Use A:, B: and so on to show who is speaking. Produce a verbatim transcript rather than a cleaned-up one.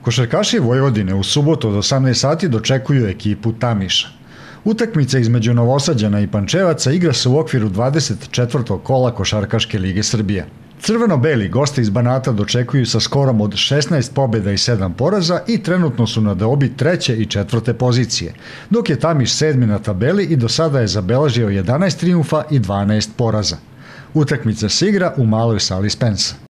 A: Košarkaši Vojvodine u subotu od osamnaest sati dočekuju ekipu Tamiša. Utakmica između Novosađana i Pančevaca igra se u okviru dvadeset četvrtog kola Košarkaške lige Srbije. Crveno-beli goste iz Banata dočekuju sa skorom od šesnaest pobjeda i sedam poraza i trenutno su na deobi treće i četvrte pozicije, dok je Tamiš sedmi na tabeli i do sada je zabeležio jedanaest trijumfa i dvanaest poraza. Utakmica se igra u maloj sali Spensa.